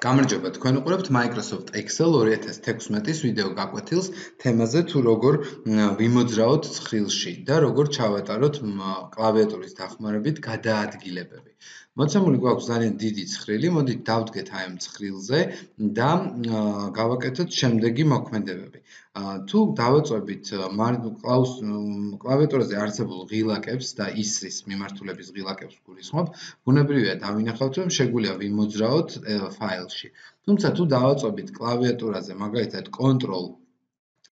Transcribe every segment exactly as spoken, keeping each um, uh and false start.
გამარჯობა, თქვენ უყურებთ Microsoft Excel ორი ათას თექვსმეტის ვიდეო გაკვეთილს თემაზე თუ როგორ ვიმოძრაოთ ცხრილში და როგორ ჩავატაროთ კლავიატურის დახმარებით გადაადგილებები. მოცემული გვაქვს ძალიან დიდი ცხრილი, მოდით დავდგეთ აი ამ ცხრილზე და გავაკეთოთ შემდეგი მოქმედებები. თუ დავაწვევით კლავიატურაზე არსებულ ღილაკებს და ისრის მიმართულების ღილაკებს გულისხმობ, ბუნებრივია დავინახავთ, რომ შეგვიძლია ვიმოძრაოთ ფაილში. თუმცა თუ დავაწვევით კლავიატურაზე მაგალითად Control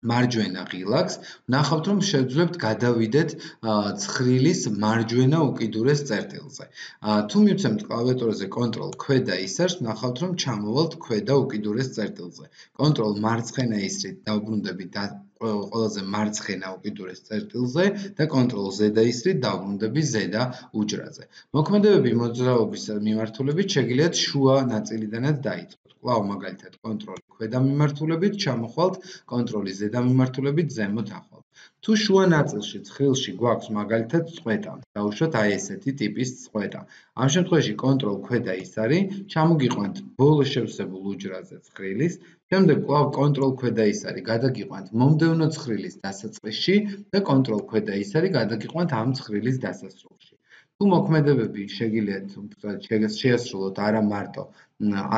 მარჯვენა ღილაკს, ვნახავთ, რომ შევძლებთ გადავიდეთ ცხრილის მარჯვენა უკიდურეს წერტილზე. თუ მივცემთ კლავიატურაზე Control ქვედა ისარს, ვნახავთ, რომ ჩამოვალთ ქვედა უკიდურეს წერტილზე. Control მარცხენა ისრით დავბრუნდებით ყველაზე მარცხენა უკიდურეს წერტილზე და Control ზედა ისრით დავბრუნდები ზედა უჯრაზე. მოქმედებები მოძრაობის მიმართულებით შეგიძლიათ შუა ნაწილიდანაც დაიწყოთ. კვლავ მაგალითად Control ქვედა მიმართულებით ჩამოხვალთ, Control ზედა მიმართულებით ზემოთ ახვალთ. თუ შუა ნაწილში ცხრილში გვაქვს მაგალითად წყვეტა, დავუშვათ აი ესეთი ტიპის წყვეტა. ამ შემთხვევაში Control ქვედა ისარი, ჩამოგიყვანთ ბოლო შევსებულ უჯრაზე ცხრილის, შემდეგ კვლავ Control ქვედა ისარი გადაგიყვანთ მომდევნო ცხრილის დასაწყისში და Control ქვედა ისარი გადაგიყვანთ ამ ცხრილის დასასრულში. თუ მოქმედებები შეგიძლიათ შეასრულოთ არა მარტო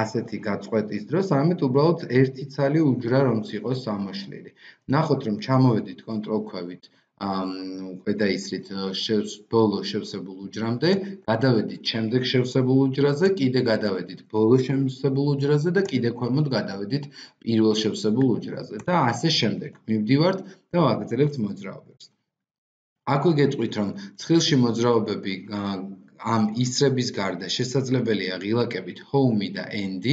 ასეთი გაწყვეტის დროს, არამედ უბრალოდ ერთი ცალი უჯრა რომც იყოს ამოშლილი. ნახოთ, რომ ჩამოვედით Control ქვევით ქვედა ისრით ბოლო შევსებულ უჯრამდე, გადავედით შემდეგ შევსებულ უჯრაზე, კიდე გადავედით ბოლო შევსებულ უჯრაზე და კიდე ქვემოთ გადავედით პირველ შევსებულ უჯრაზე და ასე შემდეგ. მივდივართ და ვაგრძელებთ მოძრაობებს. აქვე გეტყვით, რომ ცხრილში მოძრაობები ამ ისრების გარდა შესაძლებელია ღილაკებით Home და End.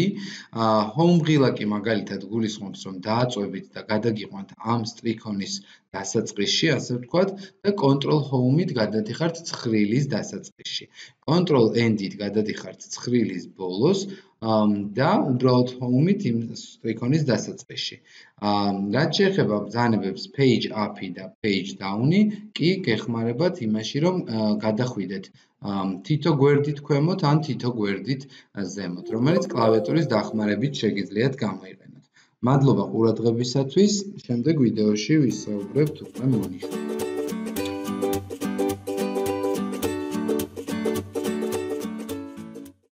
Home ღილაკი მაგალითად გულისხმობს, რომ დააწვევით და გადაგიყვანთ ამ სტრიქონის დასაწყისში, ასე ვთქვათ, და Control Home-ით გადადიხართ ცხრილის დასაწყისში. Control End-ით გადადიხართ ცხრილის ბოლოს და უბრალოდ Home-ით იმ სტრიქონის დასაწყისში. რაც შეეხება ბრძანებებს Page Up-ი და Page Down-ი, კი გეხმარებათ იმაში, რომ გადახვიდეთ თითო გვერდით ქვემოთ ან თითო გვერდით ზემოთ, რომელიც კლავიატურის დახმარებით შეგიძლიათ გამოიყენოთ. მადლობა ყურადღებისათვის, შემდეგ ვიდეოში ვისაუბრებთ უკვე მონიშნულებით.